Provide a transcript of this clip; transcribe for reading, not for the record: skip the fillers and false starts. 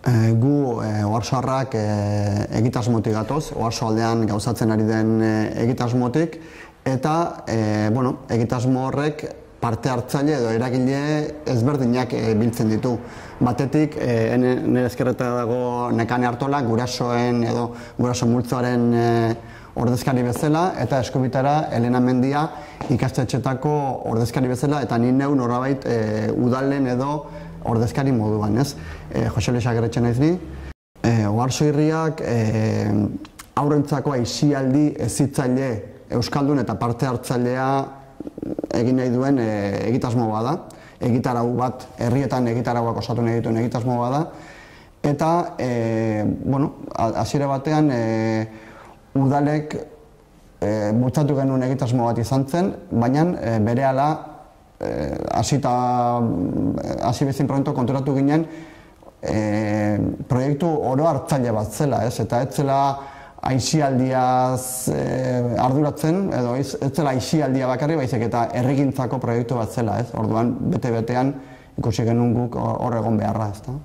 Gu Oarsoarrak egitasmotik gatoz, Oarso aldean gauzatzen ari den egitasmotik, eta egitasmo horrek parte hartzaile edo eragile ezberdinak biltzen ditu. Batetik, nire ezkerreta dago Nekane Artola, gurasoen edo guraso multzoaren ordezkari bezala, eta Eskubitara Elena Mendia ikastetxetako ordezkari bezala, eta ni neu norabait udalen edo ordezkari moduan, ez? Jose Luis Agerretxe naiz ni. Oarso Irriak haurrentzako aisialdi hezitzaile euskaldun eta parte hartzailea egin nahi duen egitasmo bada. Egitarau bat, herrietan egitarauak osatu nahi dituen egitasmo bada. Eta, hasiera batean, udalek bultzatu genuen egitasmo bat izan zen, baina berehala hasi bezin proiektu konturatu ginen proiektu oro hartzaile bat zela, eta ez zela aisialdiaz arduratzen, edo ez zela aisialdia bakarri, baizik eta herrigintzako proiektu bat zela, orduan bete-betean ikusi genuen guk hor egon beharra, ezta.